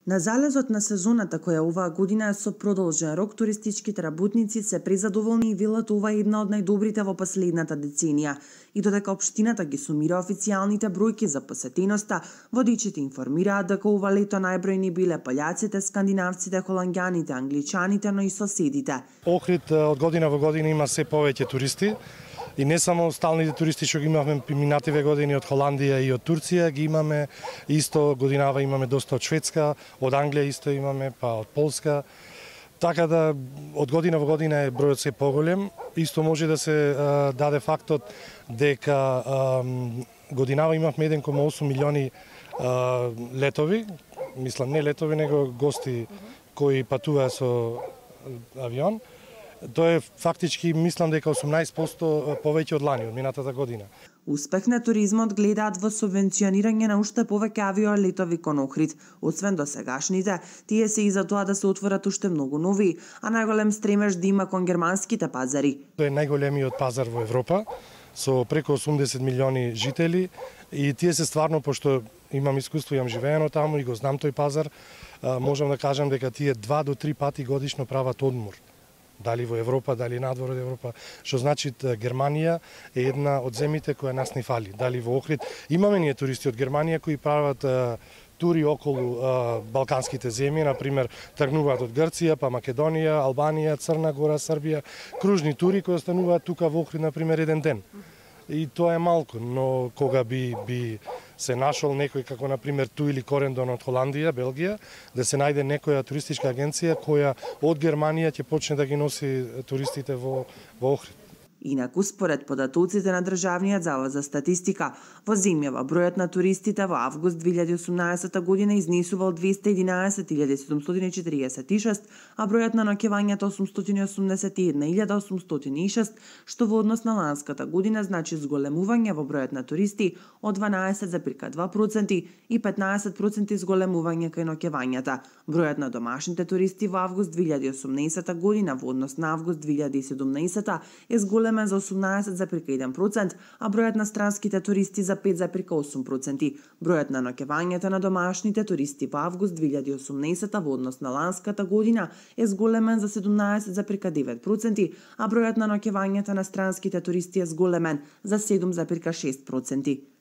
На залезот на сезоната која оваа година е со продолжен рок, туристичките работници се презадоволни и велат ова е една од најдобрите во последната деценија. И додека општината ги сумира официјалните бројки за посетеноста, водичите информираат дека ова лето најбројни биле пољаците, скандинавците, холанѓаните, англичаните, но и соседите. Охрид од година во година има се повеќе туристи. И не само сталните туристи што ги имавме минативе години од Холандија и од Турција, ги имаме исто годинава имаме доста од Шведска, од Англија исто имаме, па од Полска. Така да од година во година е бројот се поголем. Исто може да се даде фактот дека годинава имавме 1,8 милиони летови, мислам не летови, него гости кои патуваа со авион. Тоа е фактички, мислам дека 18% повеќе од лани, од минатата година. Успех на туризмот гледаат во субвенционирање на уште повеќе авиолетови кон Охрид. Освен досегашните, тие се и за тоа да се отворат уште многу нови, а најголем стремеж да има кон германските пазари. Тоа е најголемиот пазар во Европа, со преку 80 милиони жители, и тие се стварно, пошто имам искуство, имам живеено таму и го знам тој пазар, можам да кажам дека тие 2 до 3 пати годишно прават одмор. Дали во Европа, дали надвор од Европа, што значи Германија е една од земјите која нас не фали. Дали во Охрид имаме ние туристи од Германија кои прават тури околу балканските земји, на пример тргнуваат од Грција, па Македонија, Албанија, Црна Гора, Србија, кружни тури кои остануваат тука во Охрид на пример еден ден. И тоа е малку, но кога би се нашол некој како на пример Ту или Корендон од Холандија, Белгија, да се најде некоја туристичка агенција која од Германија ќе почне да ги носи туристите во Охрид. Инаку, според податоците на Државниот завод за статистика, во земјава бројот на туристите во август 2018 година изнесувал 211.746, а бројот на ноќевањата 881.806, што во однос на ланската година значи зголемување во бројот на туристи од 12,2% и 15% зголемување кај ноќевањата. Бројот на домашните туристи во август 2018 година во однос на август 2017 е зголем за 18,1%, а бројот на странските туристи за 5,8%. Бројот на ноќевањата на домашните туристи во август 2018 во однос на ланската година е зголемен за 17,9%, а бројот на ноќевањата на странските туристи е зголемен за 7,6%.